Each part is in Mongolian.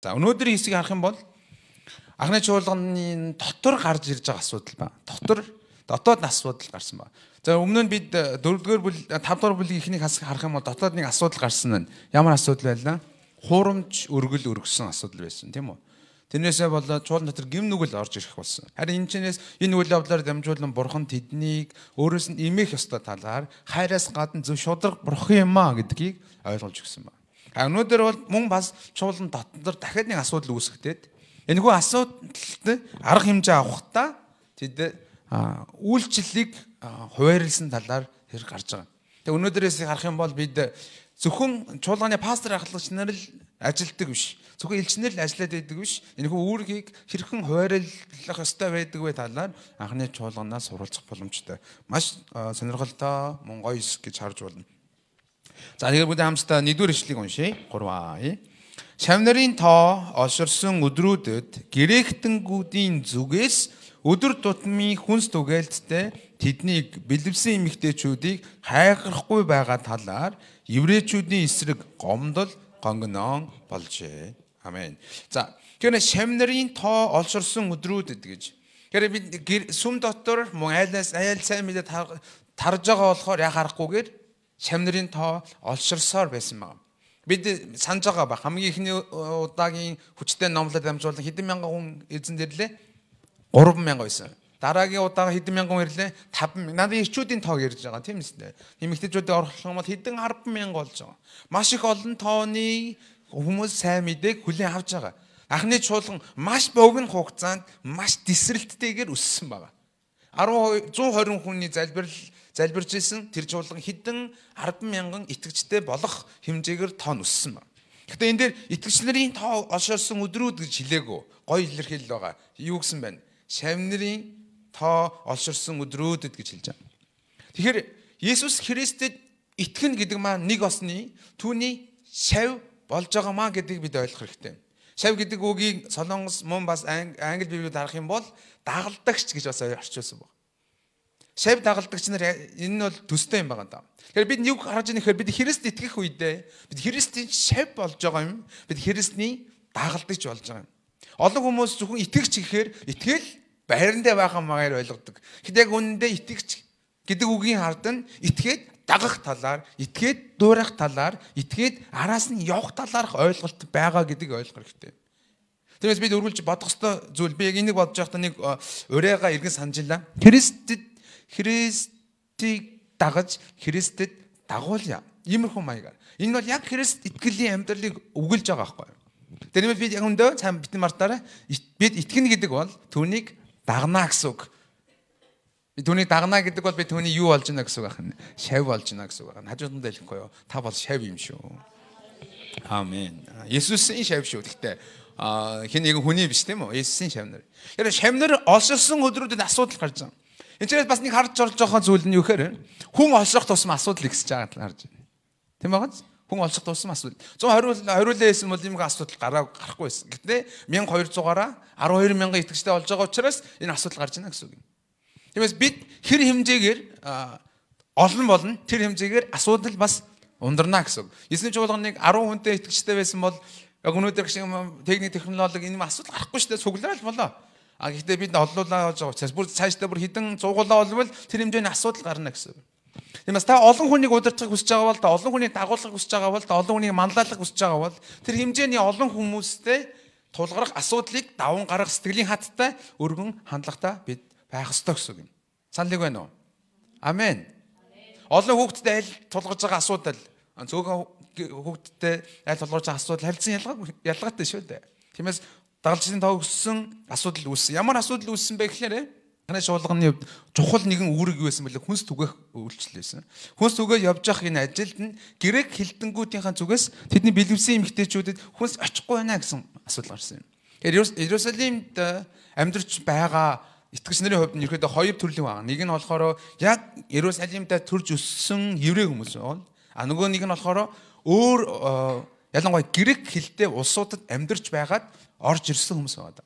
За өнөөдрийн хэсгийг харах юм бол анхны чуулганы дотор гарч ирж байгаа асуудал ба. Дотоод асуудал гарсан ба. За өмнө нь бид 4-р бүлэг 5-р бүлгийн ихнийг харах юм бол дотоод нэг асуудал гарсан нь ямар асуудал байлаа? Хуурамч өргөл өргөсөн асуудал байсан тийм үү? Тэрнээсээ болоод чуулган дотор гим нүгэл орж ирэх болсон. Харин энэ үйл явдлаар дамжуулан бурхан тэднийг өөрөөс нь имэх ёстой талаар хайраас гадна зөв шударга бурхан юм а гэдгийг ойлгуулж өгсөн байна. Өнөөдөр бол мөн бас чуулган дотор дахиад нэг асуудал үүсгэхэд энэхүү асуудалд арга хэмжээ авахдаа тэд үйлчлэлийг хуваарлсан талаар хэрэг гарч байгаа. Тэгээ өнөөдрөөс харах юм бол бид зөвхөн чуулганы пастор ахлагч нар л ажилтдаг биш. Зөвхөн элчнэр л ажиллаад байдаг биш. Энэхүү үүргийг хэрхэн хуваарлах ёстой байдаг вэ талаар анхны чуулганаас суралцах боломжтой. Маш сонирхолтой мөн гоё гэж харж байна. За тэгээд бүгд хамтдаа 1-р ишлэгийг уншъя. 3 Шавнарын тоо олширсан өдрүүдэд гректэнгүүдийн зүгээс өдөр тутмын хүнс түгээлттэй тэднийг бэлэвсэн эмэгтэйчүүдийг хайхрахгүй байгаа талаар еврейчүүдийн эсрэг гомдол гонгоnon болжээ. Амен. За тэгэхээр шавнарын тоо олширсан өдрүүдэд гэж. Тэгэхээр бид сүм дотор мөн айл сайн мэдээ тарж байгаа болохоор яа харахгүйгээр шавнарын тоо олширсоор байсан байна. Бид санаж байгаа ба хамгийн ихний удаагийн хүчтэй номлолд дамжуулан хэдэн мянган хүн эзэн дэрлээ? 3,000 байсан. Дараагийн удаага хэдэн мянган хүн ирлээ? 5,000. Надад ирчүүдийн тоог ярьж байгаа тийм ээ. Эмэгтэйчүүдийн орлох юм бол хэдэн 10,000 болж байгаа. Маш их олон тооны хүмүүс сайн мэдээг хүлээн авч байгаа. Анхны чуулган маш богино хугацаанд маш тесрэлттэйгээр өссөн байгаа. 120 хүний залбирж исэн тэр чуулган хэдэн 10,000 итгэгчтэй болох хэмжээгээр тоо өссөн байна. Гэхдээ энэ дээр итгэгч нарын тоо олширсан өдрүүд гэж хэлээгөө гоё илэрхийлэл байгаа. Юу гэсэн байна? Шавнарын тоо олширсан өдрүүдэд гэж хэлж байгаа. Тэгэхээр Есүс Христэд итгэн гэдэг маань нэг осны түүний шав болж байгаамаа гэдгийг бид ойлгох хэрэгтэй. Шав гэдэг үгийг Солонгос мөн бас англи библиуд харах юм бол дагалдагч гэж бас орчуулсан байна. Шав дагалдагч нар энэ нь бол төстэй юм байгаа даа. Тэгэхээр бид юг харж байгаа нөхөр бид Христ итгэх үедээ бид Христийн шав болж байгаа юм. Бид Христний дагалдагч болж байгаа юм. Олон хүмүүс зөвхөн итгэгч гэхээр итгэл байрандаа байгаа маягаар ойлгодог. Гэтэл яг үнэндээ итгэгч гэдэг үгийн хард нь итгээд дагах талаар, итгээд дуурайх талаар, итгээд араас нь явах талаарх ойлголт байгаа гэдгийг ойлгох хэрэгтэй. Тэрээс бид өргөлж бодох ёстой зүйл би яг энийг бодож байхдаа нэг урайгаа иргэн санджиллаа. Христийг дагаж Христэд дагуулъя. Иймэрхүү маягаар. Энэ бол яг Христ итгэлийн амьдралыг өгүүлж байгаа байхгүй юу? Тэрнээс бид яг өндөө цаан битэн мартаараа бид итгэнэ гэдэг бол түүнийг дагнаа гэсэн үг. Түүнийг дагнаа гэдэг бол би түүний юу болж байна гэсэн үг байна. Шав болж байна гэсэн үг байна. Хажууданд хэлэхгүй юу? Та бол шав юм шүү. Амен. Есүсийн шав шүү. Гэхдээ хин нэгэн хүний биш тийм үү? Есүсийн шавнар. Тэр шавнар олширсан өдрүүдэд асуудал гарч байгаа. Энд бас нэг харж орж байгаа зүйл нь юу гэхээр хүн олших тусам асуудал ихсэж байгааг харж байна. Тийм байгаа биз? Хүн олших тусам асуудал. 120 байсан бол юм асуудал гарахгүй байсан. Гэтэл 1200-аараа 12,000 итгэжтэй болж байгаа учраас энэ асуудал гарч байна гэсэн үг юм. Тиймээс бид хэр хэмжээгээр олон болно тэр хэмжээгээр асуудал бас ундарна гэсэн үг. Есүсийн чуулганыг 10 хүнтэй итгэжтэй байсан бол яг өнөөдөр шиг техник технологи энэ асуудал гарахгүй шүү дээ суглаал болоо. Гэхдээ бид олуулаа болж байгаа учраас бүр цаашдаа бүр хідэн цугуулаа болвол тэр хэмжээний асуудал гарна гэсэн үг. Тиймээс та олон хүнийг удирдахыг хүсэж байгаа бол та олон хүнийг дагуулахыг хүсэж байгаа бол та олон хүнийг манлайлахыг хүсэж байгаа бол тэр хэмжээний олон хүмүүстэй тулгарх асуудлыг даван гаргах сэтгэлийн хаттай өргөн хандлагатай бид байх ёстой гэсэн үг юм. Саналыг байна уу? Амен. Олон хүүхдэд айл тулгарч байгаа асуудал зөөгөн хүүхдэд айл тулгарч байгаа асуудал харилцан ялгаатай шүү дээ. Тиймээс дагалжлын тоо өссөн асуудал үүссэн. Ямар асуудал үүссэн бэ гэхээр танай чуулганы чухал нэгэн үүрэг юу байсан бэлээ хүнс түгэх үйлчлэл байсан. Хүнс түгээ явж явах энэ ажилд нь грек хэлтэнгүүдийнхаа зүгээс тэдний бэлэвсэн эмэгтэйчүүдэд хүнс очихгүй байна гэсэн асуудал гарсан юм. Тэгэхээр Иерусалимд амьдарч байгаа итгэгч нарын хувьд нь ерөөдөө хоёр төрлийн байна. Нэг нь болохоор яг Иерусалимд төрж өссөн еврей хүмүүс бол нөгөө нэг нь болохоор өөр ялангуяа грек хэлтэй улсуудад амьдарч байгаад орж ирсэн хүмүүс байна.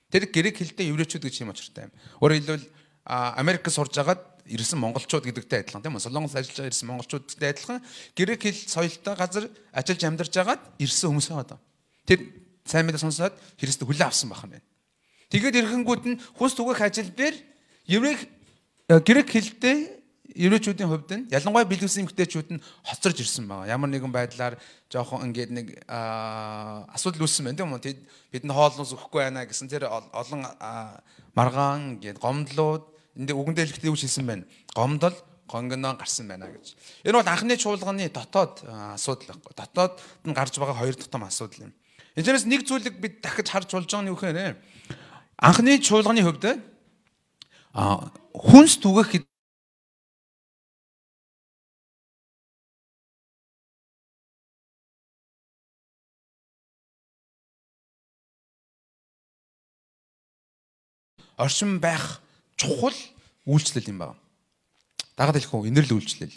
Тэр грек хэлтэй еврейчүүд гэж юм очиртай юм. Өөрөөр хэлбэл Америкт сурж агаад ирсэн монголчууд гэдэгтэй адилхан тийм үү? Солонгос ажиллаж байгаа ирсэн монголчуудтай адилхан грек хэл соёлтой газар ажиллаж амьдарч агаад ирсэн хүмүүс байна. Тэр сайн мэдээ сонсоод Христэд хүлээн авсан байх нь. Тэгээд ирэхэнгүүд нь хүнс түгээх ажил дээр грек хэлтэй еврейчүүдийн хувьд нь ялангуяа бэлгэсэн эмэгтэйчүүд нь хоцорж ирсэн байгаа. Ямар нэгэн байдлаар жоохон ингээд нэг асуудал үүссэн байна тийм үү? Бид нь хоолноос өгөхгүй байна гэсэн тэр олон маргаан ингээд гомдлууд энд үгэндээ хэлэхдээ юу хэлсэн байна? Гомдол гонгоноо гарсан байна гэж. Энэ бол анхны чуулганы дотоод асуудал байхгүй. Дотоод нь гарч байгаа хоёр тутам асуудал юм. Энэс нэг зүйлийг бид дахиж харж болж байгаа нь юу гэхээр анхны чуулганы хувьд хүнс түгэх оршин байх чухал үйлчлэл юм байна. Дагаад хэлэхгүй инэрл үйлчлэл.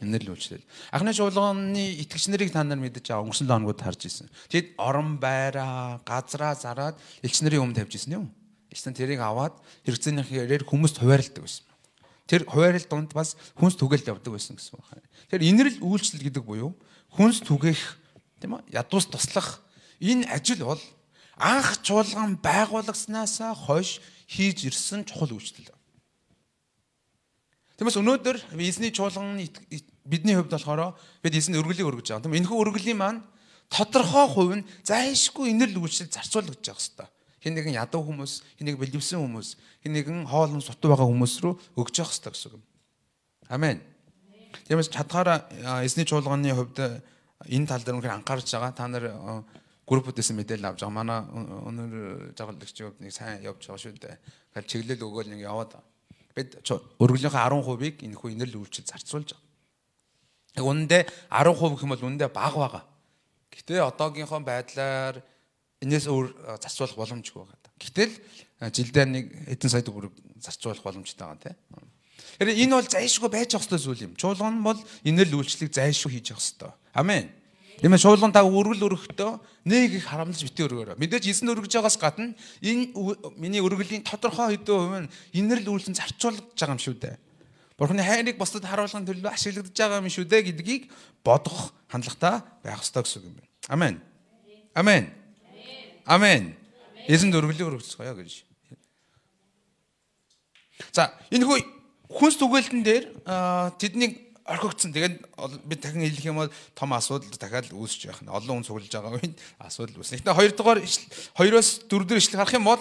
Инэрл үйлчлэл. Анхны чуулганы итгэгч нарыг та нар мэдэж байгаа өнгөрсөн лооногуд харж ирсэн. Тэд орон байраа, газраа зараад элч нарын өмнө тавьж ирсэн юм. Элч нар тэрийг аваад хэрэгцээнийхээр хүмүүст хуваарлдаг байсан. Тэр хуваарлт донд бас хүнс түгээлт явдаг байсан гэсэн байна. Тэр инэрл үйлчлэл гэдэг буюу хүнс түгээх тийм үү? Ядуус туслах энэ ажил бол анх чуулган байгуулагснаас хойш хийж ирсэн чухал үйлчлэл. Тиймээс өнөөдөр эзний чуулганы бидний хувьд болохоор бид эзэнд өргөлийг өргөж байгаа. Тийм энэхүү өргөлийн маань тодорхой хувь нь зайлшгүй инэрл үйлчлэл зарцуулагдаж байгаа хэвээр. Хэн нэгэн ядуу хүмүүс, хэн нэгэн бэлэвсэн хүмүүс, хэн нэгэн хоолн сутуу байгаа хүмүүс рүү өгж явах хэвээр гэсэн үг. Амен. Тиймээс чадхаараа эзний чуулганы хувьд энэ тал дээр үнэхээр анхаарч байгаа. Та нар группүүдээс мэдээлэл авч байгаа. Манай өнөр жагалдагч хувьд нэг сайн явж байгаа шүү дээ. Тэгэхээр чиглэл өгөөл нэг яваад бид өргөлийнхөө 10%-ийг энэхүү инэрл үйлчлэл зарцуулж байгаа. Үнэндээ 10% гэх юм бол үнэндээ бага байгаа. Гэтэ одоогийнхоо байдлаар энэс өөр зарцуулах боломжгүй байгаа. Гэтэл жилдээ нэг хэдэн сая төгрөг зарцуулах боломжтой байгаа тийм. Тэгэхээр энэ бол зайлшгүй байж явах ёстой зүйл юм. Чуулган бол инэрл үйлчлэлийг зайлшгүй хийж явах ёстой. Амен. Тиймээс чуулган та өргөл өргөхдөө нэг их харамлаж битээ өргөөрэй. Мэдээж эзэн өргөж байгаас гадна энэ миний өргөлийн тодорхой хэдэн хувь нь инэрл үйлчлэн зарцуулж байгаа юм шүү дээ. Бурхны хайрыг бусдад харуулахын төлөө ашиглагдаж байгаа юм шүү дээ гэдгийг бодох хандлагатай байх ёстой гэсэн үг юм байна. Амен. Амен. Амен. Эзэнд өргөлийг өргөцгөөё гэж. За энэ хүнс түгээлтэн дээр тэднийг орхигдсон. Тэгээд бид дахин хэлэх юм бол том асуудал дахиад үүсэж байх нь. Олон хүн цуглаж байгаа үед асуудал үүснэ. Гэтэ 2-оос 4 дэх эшлэл харах юм бол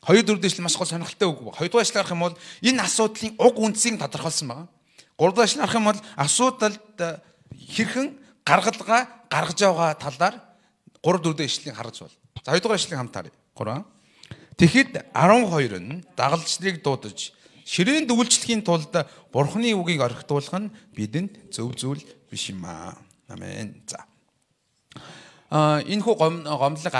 2-4 дэх эшлэл маш гол сонирхолтой үг байна. 2 дугаар эшлэл харах юм бол энэ асуудлын уг үндсийг тодорхойлсон байна. 3 дугаар эшлэл харах юм бол асуудалд хэрхэн гаргалгаа гаргаж байгаа талаар 3-4 дэх эшлэлийг харж байна. За 2 дугаар эшлэлийг хамт харъя. 3. Тэгэхэд 12 нь дагалдчдыг дуудаж ширээнд үйлчлэхийн тулд Бурхны үгийг орхитуулах нь бидэнд зөв зүйл биш юм аа. Амен. За. Энэ хүү гомдлог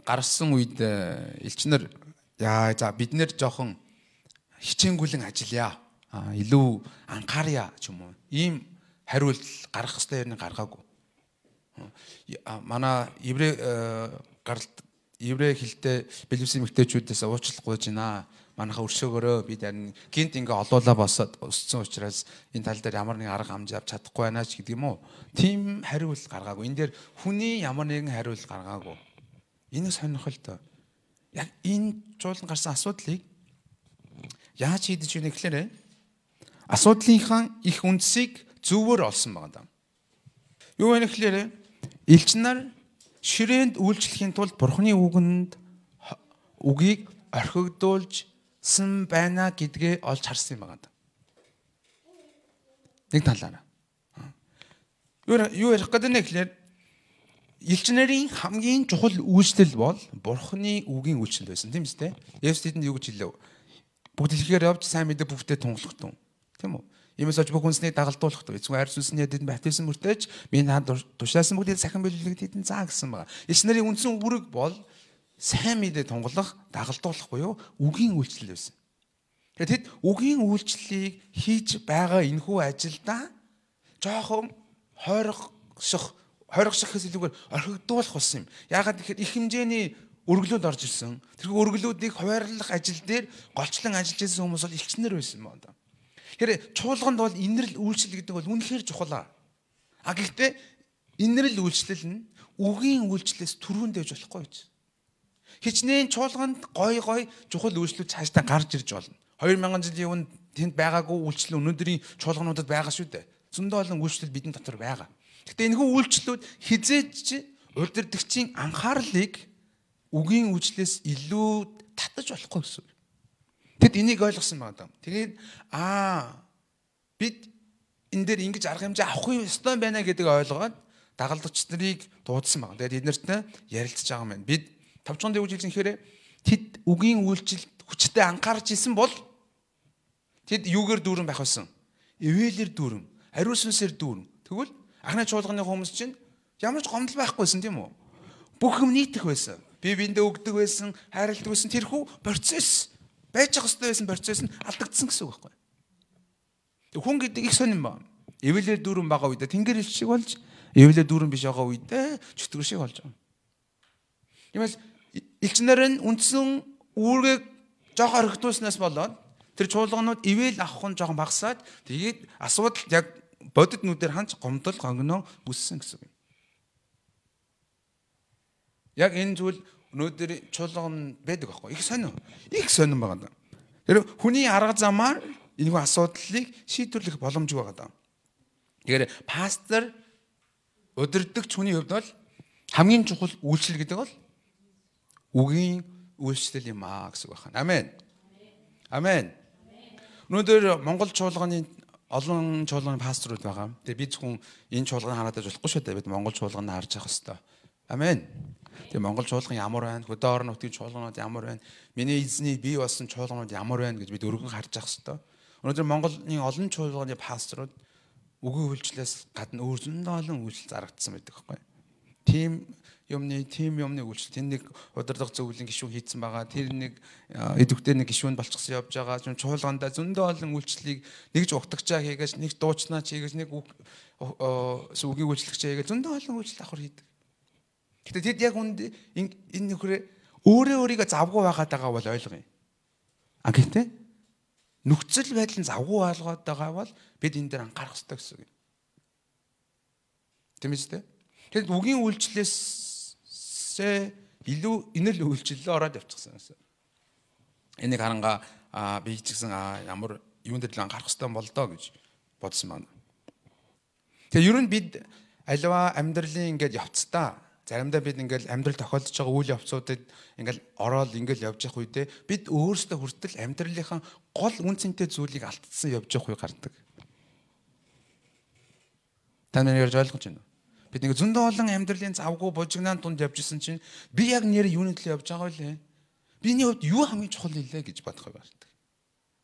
гарсан үед элчнэр за бид нэр жоохон хичээнгүлэн ажиллая. Илүү анхаарья ч юм уу. Ийм хариулт гаргах ёстой юм гаргаагүй. Манай еврей хэлтэй бэлэвсэн эмэгтэйчүүдээс уучлах гуйж байна. Манайха өршөөгөрөө бид харин гинт ингээ олуулаа босоод өссөн учраас энэ тал дээр ямар нэгэн арга хэмжээ авч чадахгүй байна ч гэдэг юм уу. Тим хариулт гаргаагүй. Энэ дээр хүний ямар нэгэн хариулт гаргаагүй. Энэ сонирхолтой. Яг энэ чуулган гарсан асуудлыг яаж шийдэж өгнө гэхээр асуудлынхаа их үндсийг зөвөр олсон байгаа даа. Юу вэ гэхээр элч нар ширээнд үйлчлэхийн тулд Бурхны үгийг орхигдуулж байна гэдгээ олж харсан юм байна. Нэг талаараа. Юу ярих гэдэг нь гэхээр элч нарын хамгийн чухал үйлчлэл бол Бурхны үгийн үйлчлэл байсан тийм үстэй. Есүс тэдэнд юу гэж хэлв? Бүгд хэлэхээр явж сайн мэдээ бүгдээ тунгалах тун. Тийм үү? Иймээс ч бүх хүнснийг дагалдуулах тун. Эцэг хайр сүнсний тэдэнд баптизм мөртөөж би наад тушаасан бүгдийг сахин биелүүлэг тэдэнд заа гэсэн байна. Элч нарын үндсэн үүрэг бол сайн мэдээ тунгалах, дагалдуулах буюу үгийн үйлчлэл байсан. Тэгэхээр тэд үгийн үйлчлэлийг хийж байгаа энэхүү ажилдаа жоохон хойрогшихээс илүүгээр орхигдуулах болсон юм. Яагаад гэхээр их хэмжээний өргөлүүд орж ирсэн. Тэр өргөлүүдийг хуваарлах ажил дээр голчлон ажиллаж байсан хүмүүс бол элчнэр байсан юм байна. Тэгэхээр чуулганд бол инэрл үйлчлэл гэдэг бол үнэхээр чухал. Гэхдээ инэрл үйлчлэл нь үгийн үйлчлэлээс түрүүнд дэвж болохгүй гэж. Хичнээн чуулганд гой чухал үйлчлүүд цаашдаа гарч ирж болно. 2000 жилийн өмнө тэнд байгаагүй үйлчлэл өнөөдрийн чуулгануудад байгаа шүү дээ. Зөндөө олон үйлчлэл бидний дотор байгаа. Гэхдээ энэхүү үйлчлүүд хизээж удирдагчийн анхаарлыг үгийн үйлчлээс илүү татаж болохгүй гэсэн. Тэд энийг ойлгосон байна. Тэгээд бид энэ дээр ингэж арга хэмжээ авах ёстой байна гэдэг ойлгоод дагалдагч нарыг дуудсан байна. Тэгээд эднэртэй ярилцж байгаа юм байна. Бид 5 чонд юу гэж хэлсэн хэрэг тэд үгийн үйлчлэлд хүчтэй анхаарч исэн бол тэд юугээр дүүрэн байх байсан? Ивэлэр дүүрэн, ариун сүнсээр дүүрэн. Тэгвэл анхны чуулганы хүмүүс чинь ямар ч гомдол байхгүйсэн тийм үү? Бүх юм нийтэх байсан. Бие биендээ өгдөг байсан, хайрладаг байсан. Тэрхүү процесс байж ах хэвээр байсан процесс нь алдагдсан гэсэн үг байхгүй. Хүн гэдэг их сонирн ба. Ивэлэр дүүрэн байгаа үедээ тэнгэр ил шиг болж, ивэлэр дүүрэн биш байгаа үедээ чөтгөр шиг болж байгаа. Тиймээс элчнэр нь үндсэн үүргийг жоох орхитуулснаас болоод тэр чуулганууд ивэл авах нь жоохон багасаад тэгээд асуудал яг бодит нүдээр ханч гомдол гонгно үссэн гэсэн үг. Яг энэ зүйл өнөөдөр чуулган байдаг байхгүй. Их сонирн байгаа даа. Тэр хүний арга замаар энэ асуудлыг шийдвэрлэх боломжгүй байгаа даа. Тэгэхээр пастор удирдагч хүний хувьд бол хамгийн чухал үйлчлэл гэдэг бол үгийн үйлчлэл юм гэсэн үг байна. Амен. Амен. Өнөөдөр Монгол чуулганы олон чуулганы пасторууд байгаа. Тэгээ би зөвхөн энэ чуулганы хараад байж болохгүй шүү дээ. Бид Монгол чуулганыг харж явах хэрэгтэй. Амен. Тэгээ Монгол чуулган ямар байна? Хөдөө орон нутгийн чуулганууд ямар байна? Миний эзний бий болсон чуулганууд ямар байна гэж бид өргөн харж явах хэрэгтэй. Өнөөдөр Монголын олон чуулганы пасторууд үгийн үйлчлэлээс гадна өөр зөндөө олон үйлчлэл зарагдсан байдаг байхгүй. Тим юмны үйлчлэл тэр нэг удирдах зөвлөлийн гишүүн хийцэн байгаа. Тэр нэг эдвүхтэй нэг гишүүн болчихсон явж байгаа. Чуулгандаа зөндөө олон үйлчлэлийг нэгж угтагчаа хийгээж, нэг дуучнаа хийгээж, нэг үгийн үйлчлэгчээ хийгээж зөндөө олон үйлчлэл давхар хийдэг. Гэтэ тэд яг энэ нөхрөө өөрийгөө завгүй байгаад байгаа бол ойлгоё. Гэхдээ нөхцөл байдал нь завгүй болгоод байгаа бол бид энэ дээр анхаарах хэрэгтэй гэсэн үг. Тийм ээ. Тэгэд үгийн үйлчлэлээсээ илүү инэл үйлчлэлээ ороод явчихсан гэсэн. Энийг харанга би ч гэсэн ямар юунд дээр л анхаарах хэрэгтэй бол доо гэж бодсон байна. Тэгээ ер нь бид аливаа амьдралын ингээд явцдаа заримдаа бид ингээд амьдрал тохиолдож байгаа үйл явцуудад ингээд ороод ингээд явж явах үедээ бид өөрсдөө хүртэл амьдралынхаа гол үн цэнтэй зүйлийг алдсан явж явах үе гардаг. Та нар ярьж ойлгож байна уу? Бид нэг зөндөө олон амьдралын завгүй бужигнаан тунд явж исэн чинь би яг нэр юуны төлөө явж байгаа вэ? Биний хувьд юу хамгийн чухал нэлээ гэж бодох юм байна.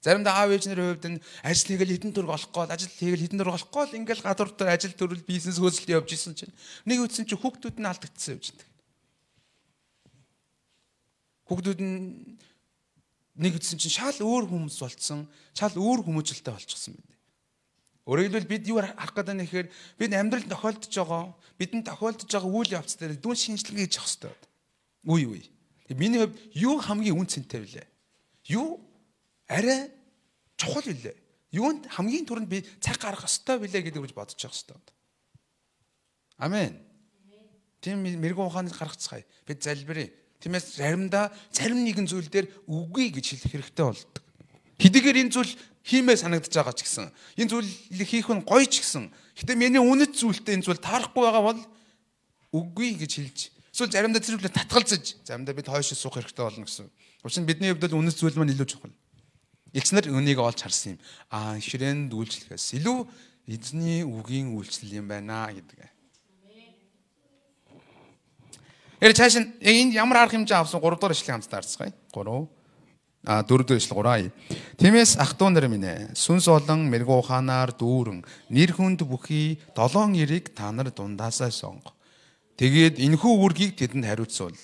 Заримдаа аав ээжнэрийн хувьд нь ажил хийгээл хэдэн төр олох гээд ажил хийгээл хэдэн төр олох гээд ингээл гадуур дээр ажил төрөл бизнес хөөсөлт явж исэн чинь нэг үтсэн чинь хүүхдүүд нь алдагдсан явж байдаг. Хүүхдүүд нь нэг үтсэн чинь шал өөр хүмүүс болцсон, шал өөр хүмүүжлэлтэй болчихсон байна. Өөрөөр хэлбэл бид юу харах гэдэг нь ихээр бид амьдрал тохиолдож байгаа, бидэнд тохиолдож байгаа үйл явц дээр дүн шинжилгээ хийж явах хэрэгтэй. Үе. Миний хувьд юу хамгийн үн цэнтэй вүлээ? Юу арай чухал вүлээ? Юунд хамгийн түрүүнд би цаг гаргах ёстой вүлээ гэдэг гэж бодож явах хэрэгтэй. Амен. Тийм мэрэгэн ухааныг гаргацгаая. Бид залбирая. Тиймээс заримдаа зарим нэгэн зүйл дээр үгүй гэж хэлэх хэрэгтэй болдог. Хэдийгээр энэ зүйл хиймээ санагдаж байгаа ч гэсэн энэ зүйлийг хийх нь гоё ч гэсэн гэтээ миний үнэт зүйлтэй энэ зүйл таарахгүй байгаа бол үгүй гэж хэлж эсвэл заримдаа тэр зүйлээ татгалзаж заримдаа бид хойш суух хэрэгтэй болно гэсэн. Учир нь бидний хувьд үнэт зүйл маань илүү чухал. Элчнэр үнийг олж харсан юм. Ширээнд үйлчлэхээс илүү эзний үгийн үйлчлэл юм байна гэдэг. Цааш нь энэ ямар арга хэмжээ авсан 3 дахь ишлэгийг хамтдаа харцгаая. 4 дэх ишлэл 3. Тиймээс ах トゥ нар минь ээ, сүнс болон мэрэгүү ухаанаар дүүрэн нэр хүнд бүхий 7 эрийг та нар дундаасаа сонго. Тэгээд энэхүү үргийг тэдэнд хариуцвал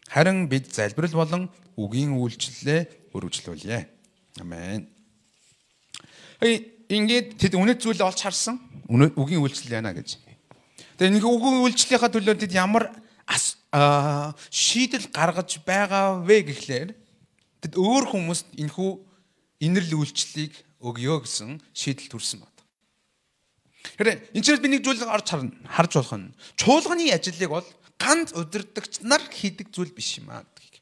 харин бид залбирал болон үгийн үйлчлэлээ өргөжлүүлье. Амен. Ингээд тэд үнэт зүйлээ олж харсан. Үгийн үйлчлэл яана гэж. Тэгээд энэ үгийн үйлчлэлийнхаа төлөө тэд ямар шийдэл гаргаж байгаа вэ гэхлээр тэд өөр хүмүүст энэхүү инэрл үйлчлэлийг өгье гэсэн шийдэл төрсэн байна. Тэгэхээр энэ ч би нэг зүйлийг харж болох нь чуулганы ажлыг бол ганц удирдагч нар хийдэг зүйл биш юм аа гэдгийг.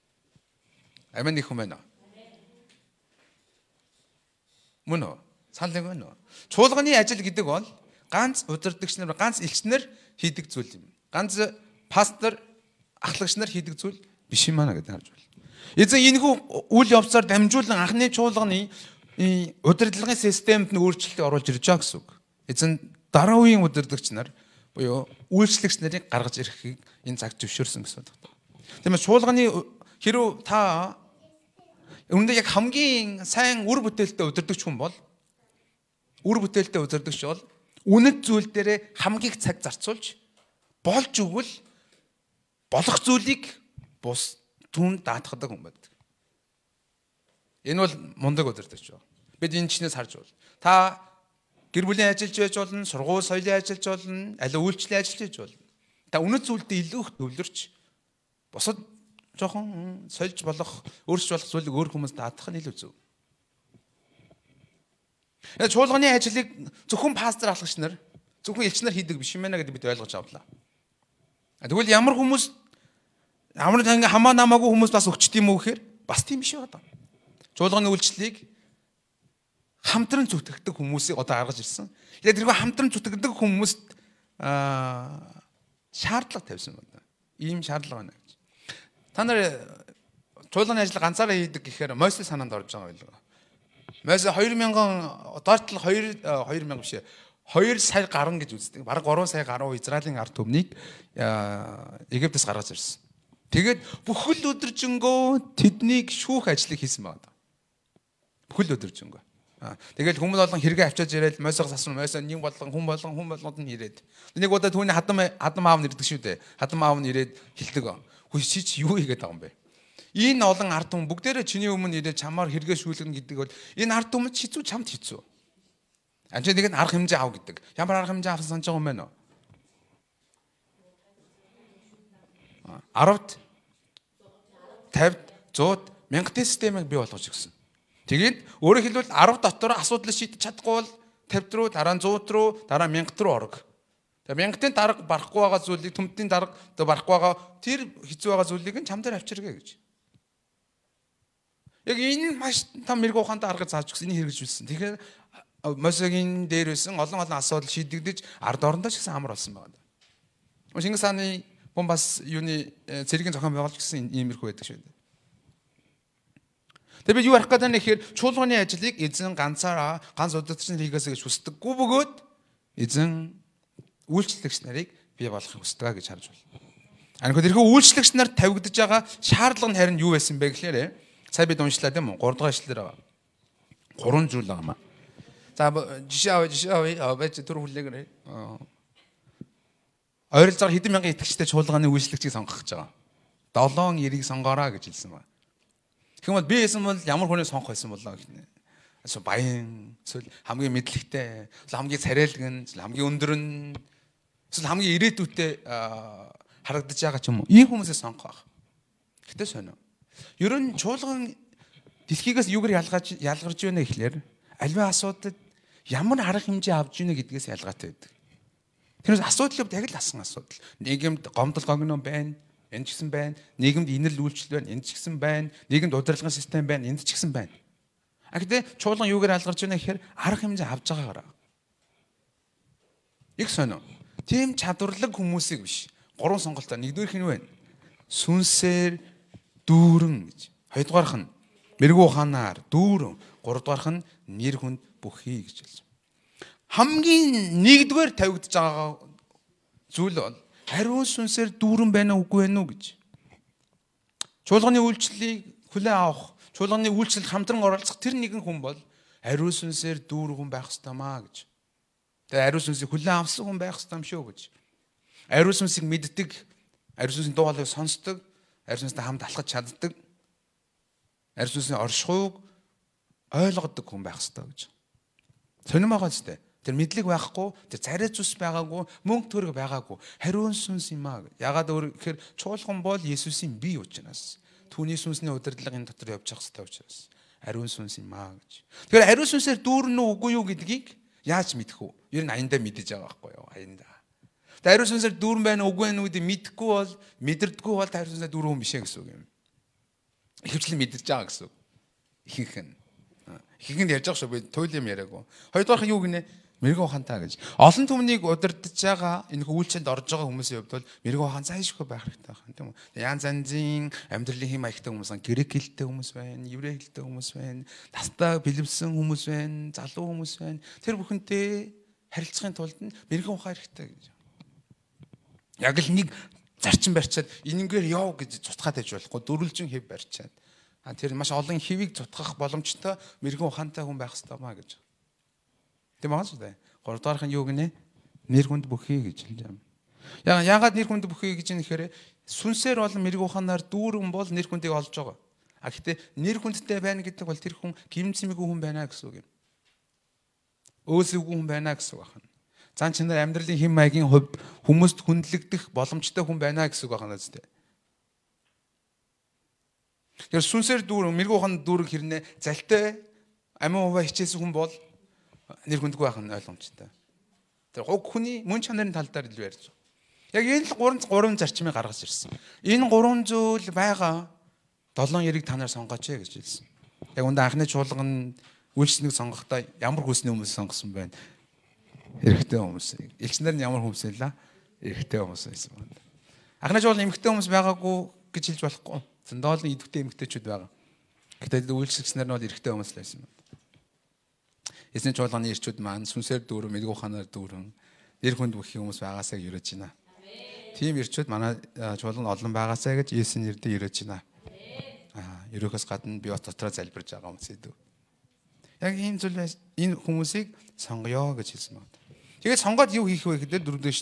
Амин их юм байна. Мөн үү? Санал нэг байна уу? Чуулганы ажил гэдэг бол ганц удирдагч нар, ганц элч нар хийдэг зүйл юм. Ганц пастор, ахлагч нар хийдэг зүйл биш юм аа гэдэг харж байна. Эзэн энэхүү үйл явцаар дамжуулан анхны чуулганы удирдлагын системд нь өөрчлөлт оруулж ирж байгаа гэсэн үг. Эзэн дараа үеийн удирдагч нар буюу үйлчлэгч нарыг гаргаж ирэхийг энэ цаг зөвшөөрсөн гэсэн үг. Тиймээс чуулганы хэрв та үүндээ яг хамгийн сайн үр бүтээлтэй удирдагч хүн бол үнэт зүйл дээрээ хамгийн цаг зарцуулж болж өгвөл болох зүйлийг бус түн даатгадаг хүн байдаг. Энэ бол мундаг удирдагч байна. Бид энэ чинээс харж байна. Та гэр бүлийн ажиллаж байж болно, сургууль соёлын ажиллаж болно, аль үйлчлэлийн ажиллаж байж болно. Та үнэт зүйлдээ илүү их төвлөрч бусад жоохон сольж болох, өөрчлөж болох зүйлийг өөр хүмүүс даатгах нь илүү зөв. Чуулганы ажлыг зөвхөн пастор ахлагч нар, зөвхөн элч нар хийдэг биш юм байна гэдэг бид ойлгож авлаа. Тэгвэл ямар хүмүүс амар хамаа намаагүй хүмүүс бас өгчт юм уу гэхээр бас тийм биш байна. Чуулганы үйлчлэлийг хамтран зүтгэдэг хүмүүсийг одоо гаргаж ирсэн. Яг тэргүй хамтран зүтгэдэг хүмүүст шаардлага тавьсан байна. Ийм шаардлага байна гэж. Та нар чуулганы ажил ганцаараа хийдэг гэхээр Мойсе санаанд орж байгаа байлгаа. Мойсе 2000 доортол 2000 биш 2 сая гарan гэж үздэг. Бараг 3 сая гаруй Израилийн ард түмнийг Египтээс гаргаж ирсэн. Тэгээд бүхэл өдөржингөө тэднийг шүүх ажлыг хийсэн байна. Бүхэл өдөржингөө. Тэгэл хүмүүс болон хэрэгээ авчиж ирээд Мойсеос асуусан. Мойсе нэг болон хүн болгонд нь ирээд. Нэг удаа түүний хадам аав нь ирдэг шүү дээ. Хадам аав нь ирээд хэлдэг. Хөөе чи юу хийгээд байгаа юм бэ? Энэ олон ард түмэн бүгдээрээ чиний өмнө ирээд чамаар хэрэгээ шүүлгэнэ гэдэг бол энэ ард түмэд хэцүү чамд хэцүү. Амчаа нэг нь арга хэмжээ ав гэдэг. Ямар арга хэмжээ авсан санаж байгаа юм бэ нөө? 10-д 50-д 100-д 1000 системийг бий болгож өгсөн. Тэгээд өөрөөр хэлбэл 10 дотор асуудал шийдэж чадахгүй бол 50 руу, дараа нь 100 руу, дараа нь 1000 руу орог. Тэгээд 1000-ийн дарга барахгүй байгаа зүйлийг төмтийн дарга барахгүй байгаа тэр хэцүү байгаа зүйлийг нь чам дээр авчиргээ гэж. Яг энэ маш том мэрэгүү ухаантай арга зааж өгсөн, энийг хэрэгжүүлсэн. Тэгэхээр Мосегийн дээр байсан олон асуудал шийдэгдэж ард орондоо ч гэсэн амар болсон байна. Шингис хааны хүн бас юуны цэргийн зохион байгуулж гэсэн иймэрхүү байдаг шүү дээ. Тэгээд би юу арах гэдэг нь ихээр чуулганы ажлыг эзэн ганц удирдагч нар хийгээсэй гэж хүсдэггүй бөгөөд эзэн үйлчлэгч нарыг бий болгохыг хүсдэг гэж харж байна. Анхны тэрхүү үйлчлэгч нар тавигдж байгаа шаардлага нь харин юу байсан бэ гэхээр сая бид уншлаа тийм үү? 3 дахь ишлэлээр байгаа. 3 зүйл байгаа маа. За жишээ авъя. Бач түр хүлээгээрэй. Ойролцоогоор хэдэн мянган итгэгчтэй чуулганы үйлчлэгчийг сонгох гэж байгаа. 7 эрийг сонгоорой гэж хэлсэн байна. Тэгм бол би хэлсэн бол ямар хүнийг сонгох байсан болоо гэнэ. Эсвэл баян, эсвэл хамгийн мэдлэгтэй, эсвэл хамгийн царайлган, эсвэл хамгийн өндөр нь, эсвэл хамгийн ирээдүйтэй харагдаж байгаа ч юм уу. Ийм хүмүүсээ сонгох байх. Гэтэ сонио. Ер нь чуулган дэлхийгээс юугаар ялгарч байна гэхлээр альва асуудад ямар арга хэмжээ авч ийнэ гэдгээс ялгаатай байдаг. Тэрнээс асуудал яг л асан асуудал. Нийгэмд гомдол гогно байна, энэ ч гэсэн байна. Нийгэмд инэл үйлчлэл байна, энэ ч гэсэн байна. Нийгэмд удирдлагын систем байна, энд ч гэсэн байна. Гэхдээ чуулган юугаар ялгарч байна гэхээр арга хэмжээ авж байгаагаар. Их сонио. Тийм чадварлаг хүмүүсийг биш. 3 сонголтоо. Нэгдүгээр хин вэ? Сүнсээр дүүрэн гэж. Хоёрдугаарх нь мэрэгүү ухаанаар дүүрэн. Гуравдугаарх нь нэр хүнд бүхий гэж хэлж байна. Хамгийн нэгдүгээр тавигдж байгаа зүйл бол хариун сүнсээр дүүрэн байна уу үгүй байна уу гэж. Чуулганы үйлчлэлийг хүлээн авах, чуулганы үйлчлэлд хамтран оролцох тэр нэгэн хүн бол хариун сүнсээр дүүрэн байх ёстой маа гэж. Тэгээ хариун сүнсийг хүлээн авсан хүн байх ёстой юм шүү гэж. Хариун сүнсийг мэддэг, хариун сүнсийн дуу хоолойг сонсдог, хариун сүнстэй хамт алхаж чаддаг, хариун сүнсийн оршихуйг ойлгодог хүн байх ёстой гэж. Сонирм байгаа зү. Тэр мэдлэг байхгүй, тэр царай зүс байгаагүй, мөнгө төгрөг байгаагүй. Хариун сүнс юм аа. Ягаад гэхээр чуулган бол Есүсийн бие учраас. Түүний сүнсний удирдлага энэ дотор явж явах ёстой учраас. Хариун сүнс юм аа гэж. Тэгэхээр хариун сүнсээр дүүрнэ үгүй юу гэдгийг яаж мэдэх вэ? Ер нь аяндаа мэдэж байгаа байхгүй юу? Аяндаа. Хариу сүнсээр дүүрэн байна уу үгүй байна уу гэдэг мэдхгүй бол мэдэрдэггүй бол хариу сүнсээр дүүрэн хүн биш ээ гэсэн үг юм. Ихэвчлэн мэдэрч байгаа гэсэн үг. Ихэнх нь. Ихэнх нь ярьж байгаа шүү. Би туйл юм яриаггүй. Хоёрдугаарх нь юу гинэ? Мэрэгэн ухаантай гэж. Олон түмнийг удирдах байгаа энэ үйлчлэлд орж байгаа хүмүүсийн хувьд бол мэрэгэн ухаан зайлшгүй байх хэрэгтэй байна, тийм үү? Янз янзын амьдралын хэм маягтай хүмүүс байна, грек хэлтэй хүмүүс байна, еврей хэлтэй хүмүүс байна, настаа бэлэвсэн хүмүүс байна, залуу хүмүүс байна. Тэр бүхэнтэй харилцахын тулд мэрэгэн ухаан хэрэгтэй гэж. Яг л нэг зарчим барьчаад энэнгээр яв гэж цутгаад байж болохгүй дөрвөлжин хэв барьчаад. Тэр маш олон хэвийг цутгах боломжтой мэрэгэн ухаантай хүн байх хэрэгтэй маа гэж. Тийм байгаа шүү дээ. Гуравдугаарх нь юу гинэ? Нэр хүнд бүхий гэж хэлж байгаа юм. Яагаад нэр хүнд бүхий гэж нэхэхээр сүнсээр болон мэрэгэн ухаанаар дүүрэн бол нэр хүндийг олж байгаа. Гэхдээ нэр хүндтэй байна гэдэг бол тэр хүн гимцэмгүй хүн байна гэсэн үг юм. Өөсөвгүй хүн байна гэсэн үг байна. Зан чанар амьдралын хэм маягийн хувьд хүмүүст хүндлэгдэх боломжтой хүн байна гэсэн үг байна зү. Тэр сүнсээр дүүрэн мэрэгэн ухаанд дүүрэн хэрнээ залтай амин хуваа хичээсэн хүн бол нэр хүндгүй байх нь ойлгомжтой. Тэр уг хүний мөн чанарын тал дээр илүү ярьж байгаа. Яг энэ л гурван зарчмыг гаргаж ирсэн. Энэ гурван зүйл байгаа 7 яриг та нар сонгооч гэж хэлсэн. Яг үндэ анхны чуулган үйлчлэгийг сонгохдоо ямар хүсний хүмүүс сонгосон байна? Эрэгтэй хүмүүс. Элчнэр нь ямар хүмүүс байлаа? Эрэгтэй хүмүүс байсан байна. Анхны чуулган эмэгтэй хүмүүс байгаагүй гэж хэлж болохгүй. Зөндөө идэвхтэй эмэгтэйчүүд байгаа. Гэтэл үйлчлэгчнэр нь бол эрэгтэй хүмүүс л байсан байна. Эзний чуулганы ирчүүд маань сүнсээр дүүрэн, мэрэгэн ухаанаар дүүрэн, нэр хүнд бүхий хүмүүс байгаасаа ерөөж байна. Тийм ирчүүд манай чуулганд олон байгаасаа гэж Есүсийн нэрээр ерөөж байна. Ерөөхөөс гадна би бас дотроо залбирж байгаа хүмүүс идэв. Яг ийм зүйл энэ хүмүүсийг сонгоё гэж хэлсэн байна. Тэгээд сонгоод юу хийх вэ гэхээр дөрөвдөө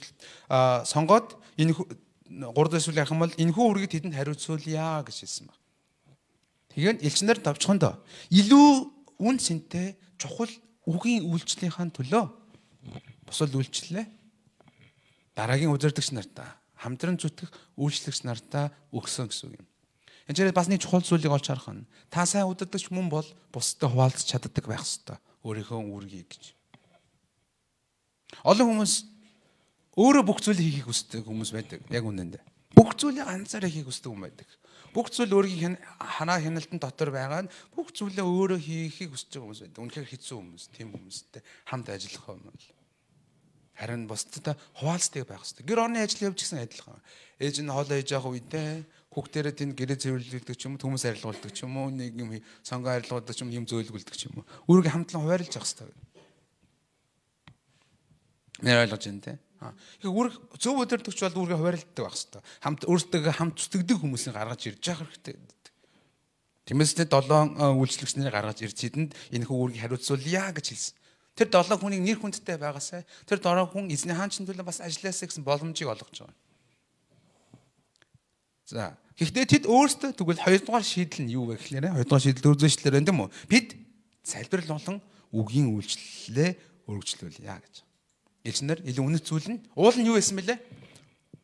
сонгоод энэ 3 дахь зүйл ярих юм бол энэхүү үргийг тэдэнд хариуцуулъя гэж хэлсэн байна. Тэгээд элчнэр давчхондоо илүү үн цэнтэй чухал үгийн үйлчлэлийн төлөө бусад үйлчлэлээ дараагийн удирдагч нартаа хамтран зүтгэх үйлчлэгч нартаа өгсөн гэсэн үг юм. Энд бас нэг чухал зүйлийг олж харах нь та сайн удирдагч мөн бол бусдад хуваалцах чаддаг байх ёстой. Өөрийнхөө үүргийг гэж. Олон хүмүүс өөрөө бүх зүйлийг хийхийг хүсдэг хүмүүс байдаг. Яг үнэндээ. Бүх зүйлийг ганцаараа хийхийг хүсдэг хүн байдаг. Бүх зүйл өөрийн ханаа хяналтын дотор байгаа нь бүх зүйлээ өөрөө хийхийг хүсэж байгаа хүмүүс байдаг. Үнэхээр хэцүү хүмүүс, тийм хүмүүстэй хамт ажиллах юм бол. Харин бусдад хуваалцдаг байх хэрэгтэй. Гэр орны ажил явж гисэн адилхан. Ээж нь хоолоо хийж явах үедээ хүүхдэрээ тэнд гэрээ цэвэрлүүлдэг ч юм уу, хүмүүс арилгуулдаг ч юм уу, нэг юм сонгоо арилгуулдаг ч юм зөөлгүүлдэг ч юм уу. Өөрийгөө хамтлан хуваарлаж явах хэрэгтэй. Нэр ойлгож байна те. Үүрэг зөв удирдагч бол үүргээ хуваарлдаг байх хэрэгтэй. Хамт өөртөө хамт зүтгэдэг хүмүүсийг гаргаж ирж явах хэрэгтэй. Тиймээс 7 үйлчлэгчнэрийг гаргаж ирж хэдэнд энэ хүү үүргийг хариуцуулъя гэж хэлсэн. Тэр 7 хүнийг нэр хүндтэй байгаасай. Тэр 7 хүн эзний хаанчны төлөө бас ажилласаа гэсэн боломжийг олгож байгаа. За, гэхдээ тэд өөрсдөө тэгвэл 2 дугаар шийдэл нь юу вэ гэхээр 2 дугаар шийдэл дөрөвдүгээр байна тийм үү? Бид залбирал болон үгийн үйлчлэлээ өргөжлүүлье гэж. Элчнэр илүү үнэт зүйл нь уул нь юу байсан бэлээ?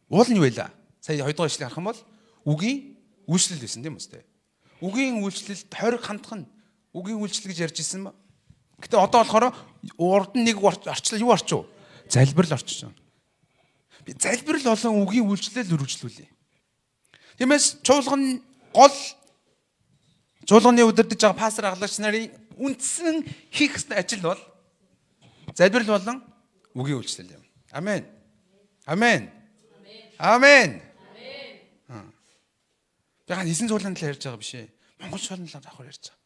Уул нь юу байлаа? Сая 2 дугаар ишлэг харах юм бол үгийн үйлчлэл байсан тийм үстэй. Үгийн үйлчлэлд хориг хандах нь үгийн үйлчлэл гэж ярьж ирсэн ба. Гэтэ одоо болохоор урд нь нэг орчлоо юу орчив? Залбирал орчиж байна. Би залбирал болон үгийн үйлчлэл өргөжлүүлье. Тиймээс чуулганы удирдах байгаа пастор аглагч нарын үндсэн хийх ёстой ажил бол залбирал болон үгийн үйлчлэл юм. Амен. Амен. Амен. Яг эзэн цуулганы талаар ярьж байгаа биш ээ. Монгол чуулганы талаар давхар ярьж байгаа.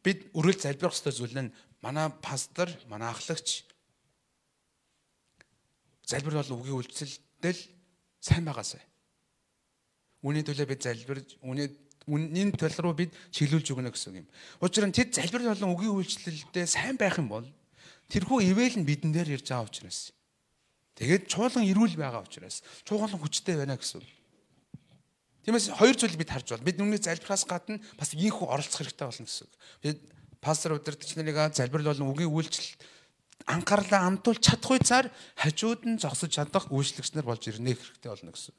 Бид үргэлж залбирах ёстой зүйл нь манай пастор, манай ахлагч залбир бол үгийн үйлчлэлдэл сайн байгаасай. Үүний төлөө бид залбирж, үнийн төл руу бид чиглүүлж өгнө гэсэн юм. Учир нь тэд залбир болон үгийн үйлчлэлдээ сайн байх юм бол тэрхүү ивэл нь бидэн дээр ирж байгаа учраас. Тэгээд чуулган эрүүл байгаа учраас чуулган хүчтэй байна гэсэн. Тиймээс хоёр зүйлийг бид харж байна. Бид нүний залбираас гадна бас ийхүү оролцох хэрэгтэй болно гэсэн. Бид пастор удирдагч нарыг залбир болон үгийн үйлчлэл анхаарлаа амтуулж чадахгүй цаар хажууд нь зогсож чадах үйлчлэгч нар болж ирнэ хэрэгтэй болно гэсэн.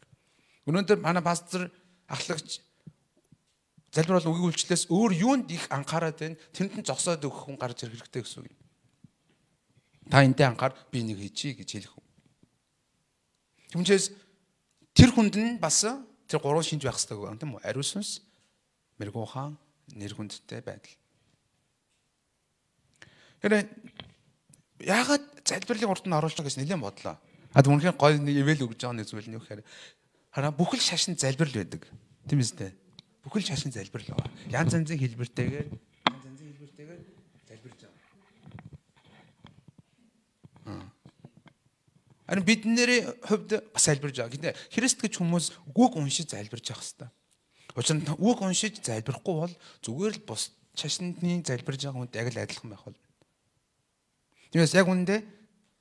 Өнөөдөр манай пастор ахлагч залбир болон үгийн үйлчлэлээс өөр юунд их анхаарат байна? Тэнд нь зогсоод өгөх хүн гарч ирэх хэрэгтэй гэсэн үг юм. Та энтэй анхаар би нэг хийчихье гэж хэлэх үү. Түүнээс тэр хүнд нь бас тэр гурван шинж байх хэрэгтэй гэх юм тийм үү? Ариун сүнс, мэрэгүүхан, нэр хүндтэй байдал. Тэгэхээр яагаад залбирлын урд нь оруулж байгаа гэж нэлээд бодлоо. Үнэхээр гой нэг ивэл өгж байгаа нэг зүйл нь юу гэхээр хараа бүхэл шашин залбирал байдаг. Тийм үстэй. Бүхэл шашин залбирал байгаа. Янз янзын хэлбэртэйгээр залбирж байгаа. Харин бидний хувьд бас залбирж байгаа. Гэтэ Христ гэж хүмүүс үг уншиж залбирж явах хэрэгтэй. Учир нь үг уншиж залбирахгүй бол зүгээр л бус шашинны залбирж байгаа хүнд яг л адилхан байх болно. Тиймээс яг үүндээ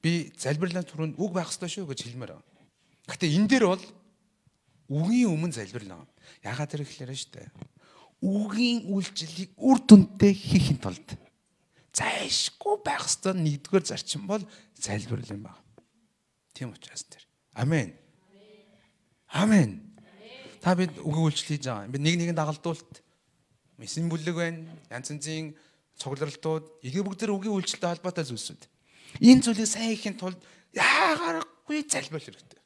би залбирлын түрүүнд үг байх хэрэгтэй шүү гэж хэлмээр байна. Гэтэ энэ дээр бол үгийн өмнө залбирлаа. Ягаад тэр ихлээрэ штэ. Үгийн үйлчлэлийг үр дүндээ хийхин тулд зайшгүй байх ёстой нэгдүгээр зарчим бол залбирал юм байна. Тийм учраас тэр. Амен. Амен. Та бид үгийн үйлчлэл хийж байгаа. Бид нэг нэгэнд дагалдуулт мессен бүлэг байна. Янз янзын цугларалтууд эдгээр бүгд тэр үгийн үйлчлэлтэй холбоотой зүйлсүүд. Энэ зүйлийг сайн хийхин тулд яагарахгүй залбирал хэрэгтэй.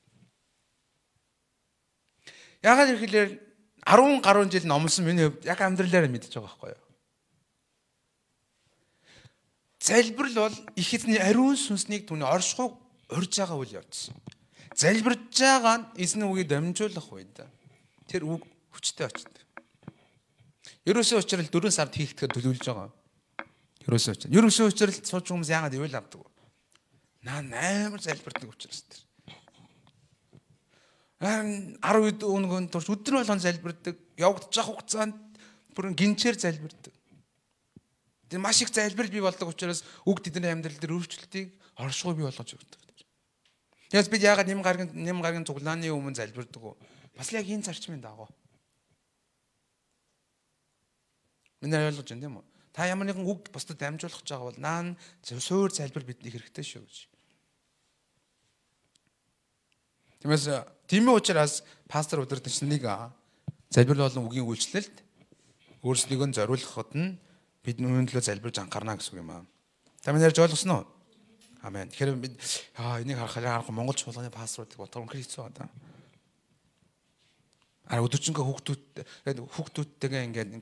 Яагаад ирэхлээр 10 гаруй жил номлосон миний хувьд яг амьдралаараа мэдчихэж байгаа байхгүй юу? Залбирал бол их эзний ариун сүнснийг түүний оршихуйг урьж байгаа үйл явдсан. Залбирж байгаа нь эзний үгийг дамжуулах үед тэр үг хүчтэй очдог. Ерөөсөө учраас 4 сард хийхдэд төлөвлөж байгаа. Ерөөсөө учраас сууж хүмүүс яагаад ивэл авдаг вэ? Амар залбирдаг учраас тэр. 10 өдрийн турш өдөр болгон залбирдаг. Явагдаж явах хугацаанд бүрэн гинчээр залбирдаг. Тэр маш их залбирал бий болдог учраас үг тэдний амьдрал дээр өөрчлөлтийг оршихуй бий болгож өгдөг. Тэгээс бид яагаад нэм гаргийн цуглааны өмнө залбирдаг вэ? Бас яг энэ зарчмын дагуу. Миний ойлгож байна тийм үү? Та ямар нэгэн үг бусдад дамжуулах гэж байгаа бол наан суур залбир бидний хэрэгтэй шүү гэж. Тиймээс тийм учраас пастор удирдагчныг залбирал болон үгийн үйлчлэлд өөрсдийгөө зориулахад нь бид нүрийн төлөө залбирж анхаарна гэсэн үг юм аа. Та минь ярьж ойлгосноо? Амен. Тэгэхээр бид энийг харахад Монгол чуулганы пасторуудыг бодохоор үнэхээр хэцүү байна. Өдөржингөө хүүхдүүдтэйгээ ингээд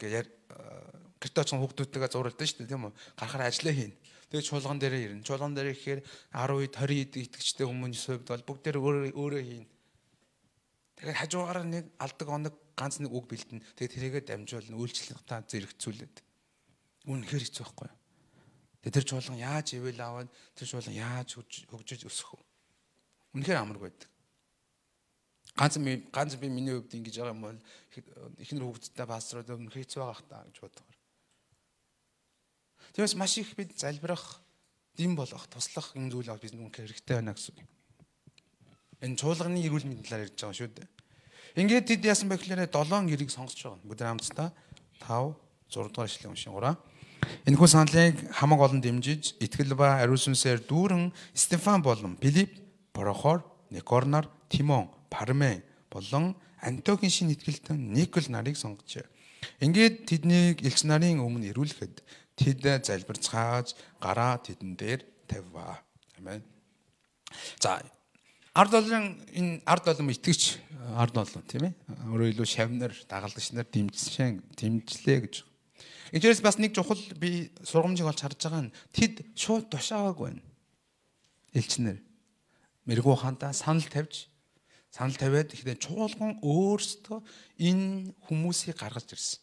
гэрте очихын хүүхдүүдтэйгээ зуралдсан шүү дээ тийм үү? Гарахаар ажиллаа хийнэ. Тэгээ чуулган дээрээ ирнэ. Чуулган дээрээ ихээр 10 20 итгэжтэй хүмүүсийн хувьд бол бүгд өөрөө хийнэ. Тэгэхээр хажуугаар нэг алдаг оног ганц нэг үг бэлдэнэ. Тэгээ тэрийгэ дамжуулна, үйлчлэлтаа зэрэгцүүлээд. Үнэхээр хэцүү байхгүй юу? Тэр чуулган яаж ивэл аваад тэр чуулган яаж хөгжиж өсөх вэ? Үнэхээр амаргүй байдаг. Ганц би миний хувьд ингэж байгаа юм бол ихнэр хүүхдтэй пасторууд үнэхээр хэцүү байгаа хта гэж боддог. Тэгээс маш их бид залбирах, дэм болох, туслах энэ зүйл аваад бид үнэхээр хэрэгтэй байна гэсэн үг. Энэ чуулганы эрүүл мэндийн талаар ярьж байгаа шүү дээ. Ингээд тэд яасан бэ гэхээр 7 гэрийг сонгож байгаа. Бүгд хамтдаа 5 6 дугаар ишлэгийг уншин гураа. Энэхүү саналыг хамаг олон дэмжиж, итгэл ба ариун сүнсээр дүүрэн Стефан болон Филипп, Прохор, Никорнар, Тимон, Пармен болон Антиохийн шинэ итгэлтэн Никол нарыг сонгожээ. Ингээд тэднийг элч нарын өмнө ирүүлэхэд тэд залбирцгааж гараа тэдэн дээр тавьваа. Амен. За ард олон итгэж ард олон тийм ээ. Өөрөөр хэлбэл шавнар, дагалдагч нар дэмжлээ гэж. Энэчээс бас нэг чухал би сургамжийг олж харж байгаа нь тэд шууд тушаагааг байна. Элчнэр мэрэгүү хантаа санал тавиад ихтэй чуулган өөрсдөө энэ хүмүүсийг гаргаж ирсэн.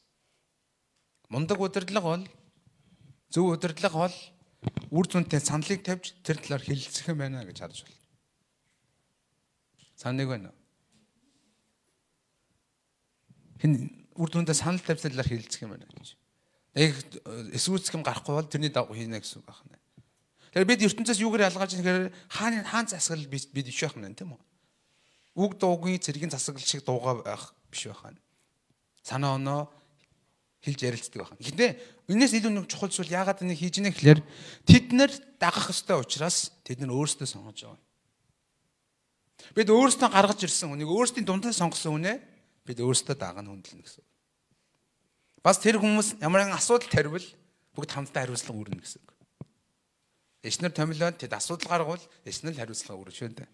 Мундаг удирдлага бол зөв удирдлага бол үр дүнтэй саналыг тавьж тэр талаар хэлэлцэх юм байна гэж харж байна. Саныг байна. Хин үр дүнтэй санал тавьж талаар хэлэлцэх юм байна гэж. Эсвүүцэх юм гарахгүй бол тэрний дагуу хийнэ гэсэн үг байна. Тэгэхээр бид ертөнцөөс юугаар ялгааж байгаа гэхээр хаан засаглал бид биш байх нь тийм үү? Үг дуугийн цэргийн засаглал шиг дуугаа байх биш байх нь. Санаа оноо хэлж ярилцдаг байх. Гэхдээ энэс илүү нэг чухал зүйл яагаад энийг хийж ийнэ гэхээр тэд нар дагах ёстой учраас тэд нар өөрсдөө сонгож байгаа. Бид өөрсдөө гаргаж ирсэн хүнийг өөрсдийн дундаа сонгосон хүнээ бид өөрсдөө дагана хүндэлнэ гэсэн. Бас тэр хүмүүс ямар нэгэн асуудал тарвал бүгд хамтдаа хариуцлага өрнө гэсэн үг. Эснэр томилоод тэд асуудал гаргавал эснэл хариуцлага өргөж шүү дээ.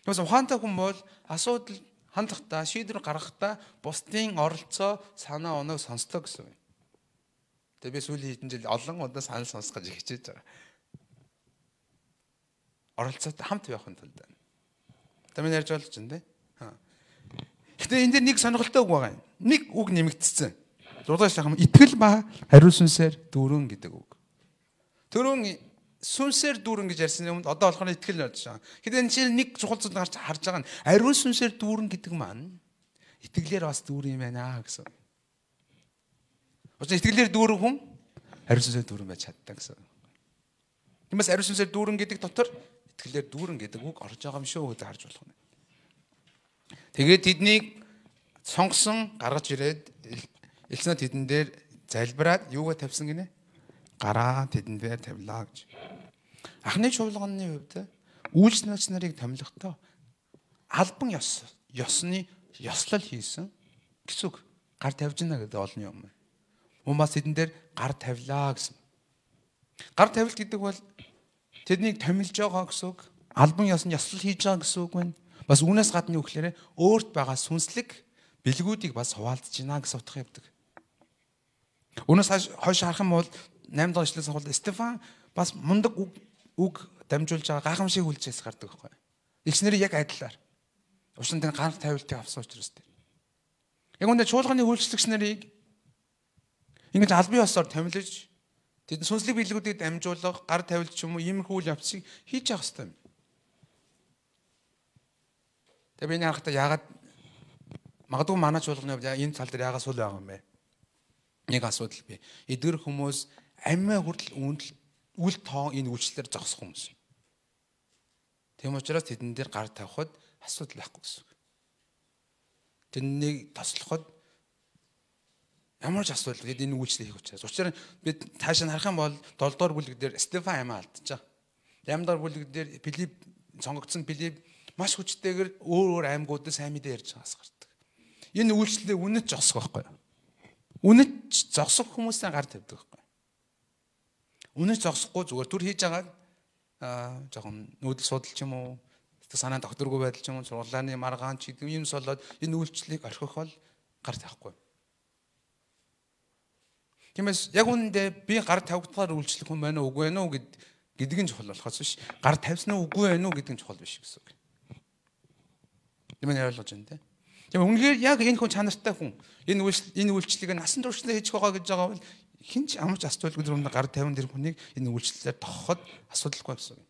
Тэгээс ухаантай хүн бол асуудал хандлахдаа шийдвэр гаргахдаа бусдын оролцоо санаа оноог сонсдог гэсэн. Тэгээ би сүүлийн хэдэн жил олон удаа санал сонсгож хичээж байгаа. Оролцоотой хамт явахын тулд. Тамин ярьж болж байна те. Гэтэ энэ дээр нэг сонирхолтой үг байгаа юм. Нэг үг нэмэгдсэн. 6 шахам итгэл ба хариу сүнсээр дүүрэн гэдэг үг. Төрөн сүнсээр дүүрэн гэж ярьсны өмнө одоо болохоор итгэл болж байгаа. Гэтэ энэ чинь нэг чухал зүйл харж байгаа нь хариу сүнсээр дүүрэн гэдэг маань итгэлээр бас дүүрэн юм байна гэсэн. Учир нь итгэлээр дүүрэн хүн хариу сүнсээр дүүрэн байж чаддаг гэсэн. Тиймээс хариу сүнсээр дүүрэн гэдэг дотор итгэлээр дүүрэн гэдэг үг орж байгаа юм шүү гэдээ харж болох нь. Тэгээд тэднийг сонгосон гаргаж ирээд элчнээ тэдэн дээр залбираад юугаа тавьсан гинэ? Гараа тэдэн дээр тавилаа гэж. Анхны чуулганы хувьд үйлчлэгч нарыг томилохдоо албан ёсны ёслол хийсэн гэсэн үг. Гар тавьж гинэ гэдэг олон юм. Хүмүүс тэдэн дээр гар тавилаа гэсэн. Гар тавилт гэдэг бол тэднийг томилж байгаа гэсэн үг. Албан ёсны ёслол хийж байгаа гэсэн үг байна. Бас үүнээс гадна юу гэхээр өөрт байгаа сүнслэг бэлгүүдийг бас хуваалцж гинэ гэсэн утга явдаг. Үүнээс хойш харах юм бол 8 дахь ишлээс хавал Стефан бас мундаг үг дамжуулж байгаа гайхамшиг үйлчлээс гардаг байхгүй. Илч нэр яг адилаар. Учир нь гар тавилтыг авсан учраас тийм. Яг үүндээ чуулганы үйлчлэгч нарыг ингэж албан ёсоор томилж тэд сүнслэг биелгүүдийг дамжуулах, гар тавилт ч юм уу иймэрхүү үйл явцыг хийж явах хэрэгтэй юм. Тэгээ би энэ харахтаа яагаад магадгүй манай чуулганы хувьд энэ тал дээр яагаад сул байгаа юм бэ? Нэг асуудал бий. Эдгэр хүмүүс амиа хүртэл үл тоон энэ үйлчлэлээр зогсох хүмүүс. Тийм учраас тэдэн дээр гар тавихад асуудал байхгүй гэсэн. Тэднийг тослоход ямар ч асуудал бид энэ үйлчлэл хийх учраас. Учир нь бид цааш нь харах юм бол 7 дугаар бүлэг дээр Стефан амиа алдчихаа. 8 дугаар бүлэг дээр Филипп сонгогдсон Филипп маш хүчтэйгээр өөр аймагуудад сайн мэдээ ярьж байгаас гардаг. Энэ үйлчлэлээ үнэт зогсох байхгүй юу? Үнэт зогсох хүмүүсийн гар тавьдаг байхгүй. Үнэт зогсохгүй зүгээр түр хийж агаад жоохон нүүдэл судалч юм уу, санаа докторгүй байдал ч юм уу, сургуулааны маргаан ч гэдэг юмс болоод энэ үйлчлэлийг орхих бол гар тавихгүй. Тиймээс яг үүндээ би гар тавигдахаар үйлчлэх хүн байна уу үгүй байна уу гэдэг нь чухал болохоос биш. Гар тавьсан уу үгүй байна уу гэдэг нь чухал биш гэсэн үг. Тийм ээ ойлгож байна те. Тийм үнэхээр яг энэ хүн чанартай хүн. Энэ үйлчлэлийг насан туршдаа хийж байгаа гэж байгаа бол хинч амарч асуудалгүй дүрмд гар тавин тэр хүнийг энэ үйлчлэлээр тохоход асуудалгүй гэсэн үг.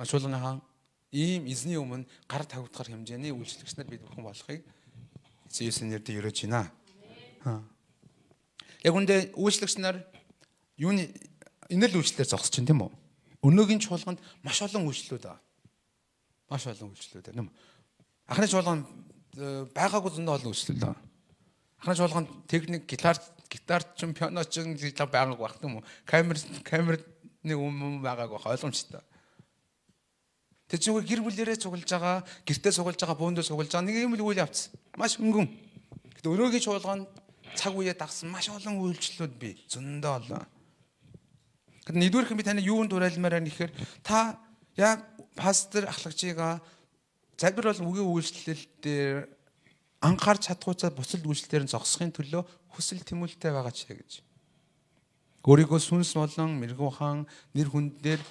Чуулганы хаан ийм эзний өмнө гар тавигдахар хэмжээний үйлчлэгч нар бид бүхэн болохыг Есүсийн нэрээр өрөөж байна. Яг үндэ үйлчлэгч нар юуны энэ л үйлчлэлээр зогсож чинь тийм үү? Өнөөгийн чуулганд маш олон үйлчлэлүүд байна. Маш олон үйлчлэлүүд байна. Анхны чуулганд байгаагүй зөндөө олон үйлчлэл байна. Анхны чуулганд техник, гитар ч, пиано ч байгаагүй байх тийм үү? Камерны байгаагүй ойлгомжтой. Тэр чинь гэр бүлээрээ цуглаж байгаа, гэртээ цуглаж байгаа, бөөндөө цуглаж байгаа нэг юм л үйл явц. Маш өнгөн. Гэтэ өнөөгийн чуулганд цаг үеэ дагсан маш олон үйлчлэлүүд бий. Зөндөө олон. Гэтэл нэгдүгээр би таны юунд дуурайлмаар байна гэхээр та яг пастор ахлагчигаа залбир бол үгийн үйлчлэл дээр анхаарч чадхуйцаа буцалд үйлчлэлээр нь зогсохын төлөө хүсэл тэмүүлэлтэй байгаа ч гэж. Өөрийгөө сүнс болон мэрэгүү хаан нэр хүнд дээр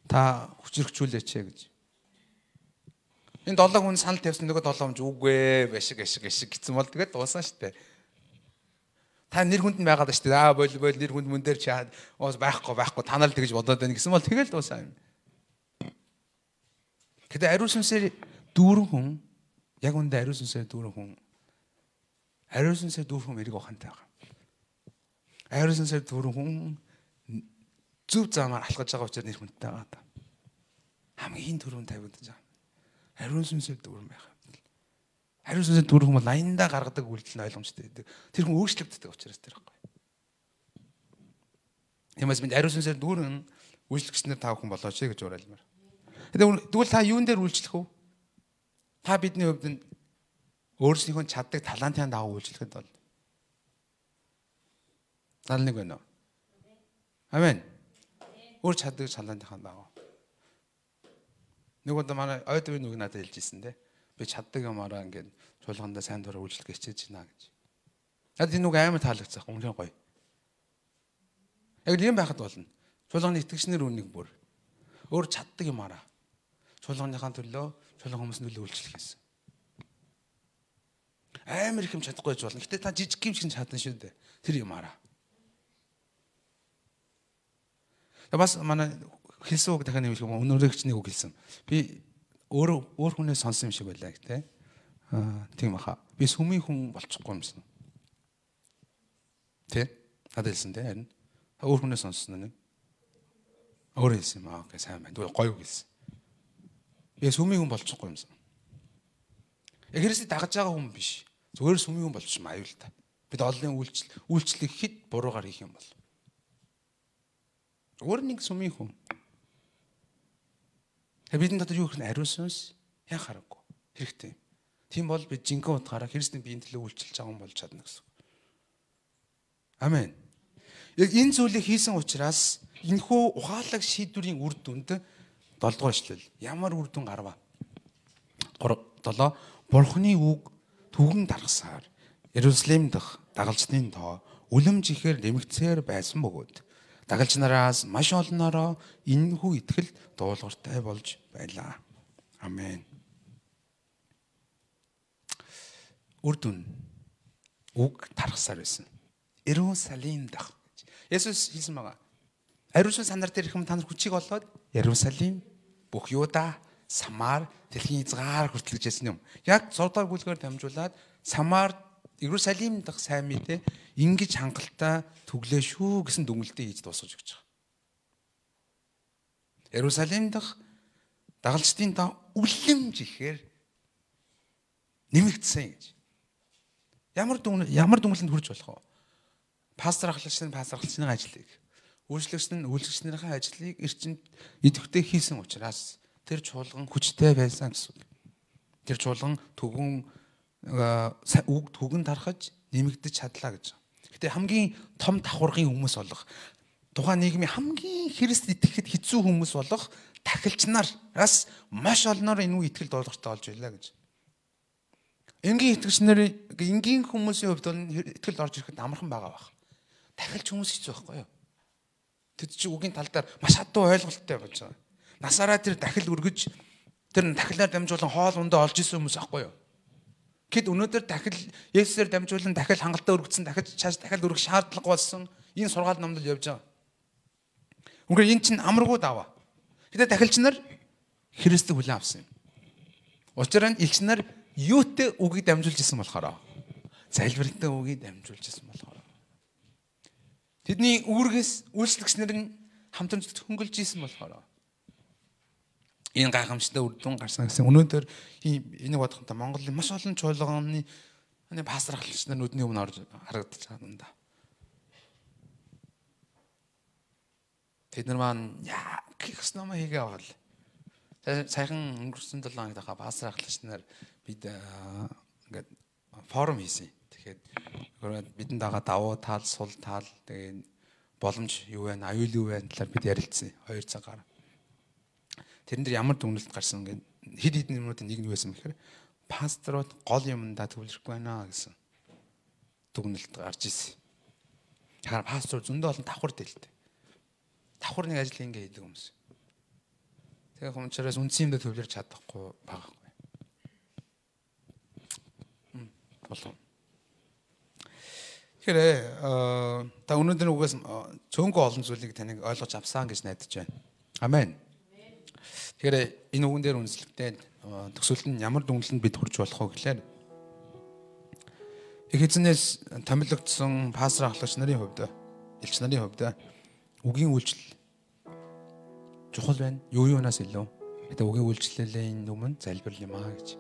та хүчрхжүүлээч гэж. Энэ 7 хүн санал тавьсан нөгөө 7 хүн үгүй башиг гэсэн бол тэгээд дууссан шүү дээ. Та нэр хүнд нь байгаад шүү дээ. Бол нэр хүнд мөн дээр чи байхгүй та нар л тэгж бодоод байна гэсэн бол тэгэл дуусаа юм. Гэтэ ариун сүнсээр дүүрэн хүн яг үндэ ариун сүнсээр дүүрэн хүн мэрэг ухаантай байгаа. Ариун сүнсээр дүүрэн хүн зөв замаар алхаж байгаа учраас нэр хүндтэй байгаа. Хамгийн түрүүнд тавигдаж байгаа. Ариун сүнсээр дүүрэн байх. Ариун сүнсээр дүүрэн хүн бол аяндаа гаргадаг үйлдэл нь ойлгомжтой байдаг. Тэр хүн өөрчлөгддөг учраас тэр байхгүй. Тиймээс бид ариун сүнсээр дүүрэн үйлчлэгчнэр тав хүн болооч гэж уриалмаар. Тэгвэл та юун дээр үйлчлэх вэ? Та бидний хувьд нь өөрсдийнхөө чаддаг талантын дагуу үйлчлэхэд бол 71 байна уу? Амен. Өөр чаддаг чалаантайхан даа. Нэг удаа манай ойдын нэг надад хэлж ирсэн те. Би чаддаг юмараа ингээд чуулгандаа сайн дураа үйлчлэх хичээж байна гэж. Надад энэ үг амар таалагдсан. Үнэн гоё. Яг юм байхад болно. Чуулганы итгэгчнэр үнийг бүр өөр чаддаг юмараа чуулганыхаа төлөө чуулган хүмүүсийн төлөө үйлчлэх гэсэн. Амар их юм чадахгүй байж болно. Гэтэ та жижиг юм шиг чадна шүү дээ. Тэр юмараа. Бас манай хэлсэн үг дахиад нэмэх юм өнөөрөгчнийг үг хэлсэн. Би өөр хүнээс сонсон юм шиг байлаа гэдэг. Тийм баха. Би сүмийн хүн болчихгүй юмсан. Тэ? Надад хэлсэн тэ харин. Өөр хүнээс сонссон нэг. Өөр хэлсэн юм аа. Окей сайн байна. Гоё үг хэлсэн. Би сүмийн хүн болчихгүй юмсан. Христийг дагаж байгаа хүн биш. Зүгээр сүмийн хүн болчих юм аюул та. Бид олонний үйлчлэг хэд буруугаар хийх юм бол. Өөр нэг сүмийн хүн. Бидний дотор юу гэх нь ариун сүнс яа хараггүй. Хэрэгтэй. Тийм бол бид жинхэнэ утгаараа Христийн биеийн төлөө үйлчилж байгаа хүн болж чадна гэсэн. Амен. Яг энэ зүйлийг хийсэн учраас энэхүү ухаалаг шийдвэрийн үр дүнд 7 дугаар эшлэл. Ямар үр дүн гарва? 7. Бурхны үг түгэн даргасаар Иерусалим дахь дагалжны тоо үлэмж ихээр нэмэгцээр байсан бөгөөд дагалж нараас маш олноороо энэхүү итгэл дуулууртай болж байлаа. Амен. Үр дүн үг даргасаар байсан. Иерусалим дах. Есүс хэлсэн байгаа. Ариун санаар дээр ихэм та нар хүчийг олоод Иерусалим, бүх Юда, Самар, дэлхийн хязгаар хүртэл гэжсэн юм. Яг 6 дахь бүлгээр дамжуулаад Самар, Иерусалим дах сайн мэдээ ингэж хангалттай түглээ шүү гэсэн дүгнэлтээ хийж дуусгаж өгч байгаа. Иерусалим дах дагалжтын та үлэмж ихээр нэмэгдсэн гэж. Ямар дүнлэнд хүрч болох вэ? Пастор ахлагчны ажлыг, үйлчлэгч нь үйлчлэгчнийхээ ажлыг эрчимд идэвхтэй хийсэн учраас тэр чуулган хүчтэй байсан гэсэн. Тэр чуулган үг түгэн тархаж нэмэгдэж чадлаа гэж. Гэтэ хамгийн том давхаргын хүмүүс болох тухайн нийгмийн хамгийн Христ итгэхэд хэцүү хүмүүс болох тахилч нараас маш олноор энэ үг итгэл дуулууртай болж байлаа гэж. Энгийн итгэгч нар энгийн хүмүүсийн хувьд бол итгэл орж ирэхэд амархан байгаа байх. Тахилч хүмүүс хэцүү байхгүй юу? Тэд чи үгийн тал дээр маш хатуу ойлголттой болж байгаа. Насаараа тэр дахил өргөж тэр дахилаар дамжуулан хоол ундаа олж исэн хүмүүс байхгүй юу? Гэд өнөөдөр дахил Есүсээр дамжуулан дахил хангалттай өргөцсөн дахиж цааш дахил өргөх шаардлага болсон энэ сургаал номдол явж байгаа. Үнэхээр энэ чинь амаргүй даваа. Гэтэ дахилч нар Христийг хүлээн авсан юм. Учир нь элч нар юутэй үгийг дамжуулж исэн болохоор залбиралтай үгийг дамжуулж исэн болохоор тэдний үүргээс үйлчлэгчнэр нь хамтран хөнгөлж исэн болохоор энэ гайхамшигтай үр дүн гарсан гэсэн. Өнөөдөр энийг бодоход Монголын маш олон чуулганы пастор ахлагч нар нүдний өмнө орж харагдаж байгаа юм да. Тэд нар маань яа гэх ном хийгээ авал. Саяхан өнгөрсөн 7 хоногт хаа пастор ахлагч нар бид ингээд форум хийсэн. Тэгэхээр бидэнд байгаа давуу тал, сул тал, тэгээд боломж юу вэ, аюул юу вэ талаар бид ярилцсан 2 цагаар. Тэрэн дээр ямар дүгнэлт гарсан гэдэг хэд хэдэн юмнуудын нэг нь байсан гэхээр пасторууд гол юмдаа төвлөрөхгүй байна гэсэн дүгнэлт гарч ирсэн. Тэгэхээр пастор зөндөө олон давхар дэлтэй. Давхар нэг ажил ингэ хийдэг хүмүүс. Тэгээ хүмүүсээс үндсэн юмдаа төвлөрч чадахгүй байгаа. Болов. Тэгэхээр та өнөөдөр үгээс цөөнгөө олон зүйлийг таныг ойлгож авсан гэж найдаж байна. Амен. Тэгэхээр энэ үгэн дээр үндэслэхдээ төсөөлт нь ямар дүнлэнд бид хүрч болох вэ гэхээр их эзнээс томилогдсон пастор ахлагч нарын хувьд, элч нарын хувьд үгийн үйлчлэл чухал байна. Юу юунаас илүү. Гэтэ үгийн үйлчлэлийн өмнө залбирал юм аа гэж.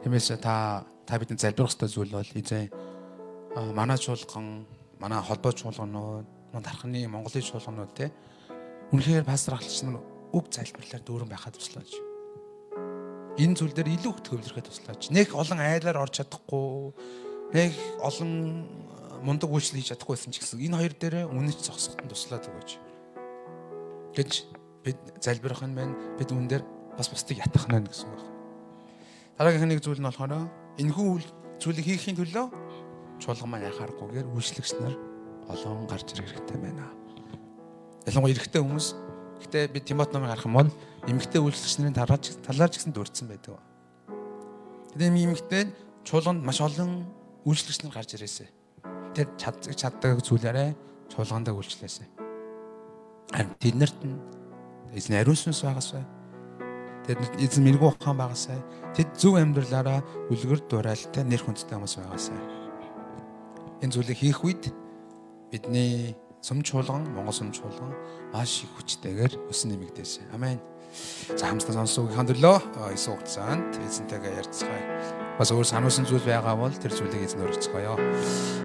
Тиймээс та бидний залбирах ёстой зүйл бол эзэн манай чуулган, манай холбоо чуулганууд, дархны Монголын чуулганууд те үнэхээр пастор ахлагч нар үг залбирлаар дүүрэн байхад туслаач. Энэ зүйл дээр илүү их төвлөрөхөд туслаач. Нэг олон айлаар орж чадахгүй, нэг олон мундаг үйлчлэл хийж чадахгүйсэн ч гэсэн энэ хоёр дээрээ үнэч зогсоход нь туслаад өгөөч гэж бид залбирах нь байна. Бид үүн дээр бас бусдыг ятгах нь гэсэн үг байна. Дараагийн нэг зүйл нь болохоор энэхүү зүйлийг хийхийн төлөө чуулган маань яхаарахгүйгээр үйлчлэгч нар олон гарч ирэх хэрэгтэй байна. Ялангуяа эрэгтэй хүмүүс. Гэтэ би Тимот номыг харах юм бол эмэгтэй үйлчлэгч нарын талаар ч гэсэн дурдсан байдаг. Тэгээд эмэгтэй чуулганд маш олон үйлчлэгч нар гарч ирээсэ. Тэр чаддаг зүйлээрээ чуулгандаа үйлчлээсэ. Харин тэднэрт нь эзэн ариун сүнс байгаасай. Тэднэрт эзэн мэрэгүү ухаан байгаасай. Тэд зөв амьдралаараа үлгэр дуурайлтай нэр хүндтэй хүмүүс байгаасай. Энэ зүйлийг хийх үед бидний сүм чуулган, Монгол сүм чуулган маш их хүчтэйгээр өсөн нэмэгдээсэй. Амен. За хамтдаа сонсогдохын төлөө Иесус хугацаанд эзэнтэйгээ ярьцгаая. Бас өөр сануулсан зүйл байгаа бол тэр зүйлийг эзэн өргөцгөөё.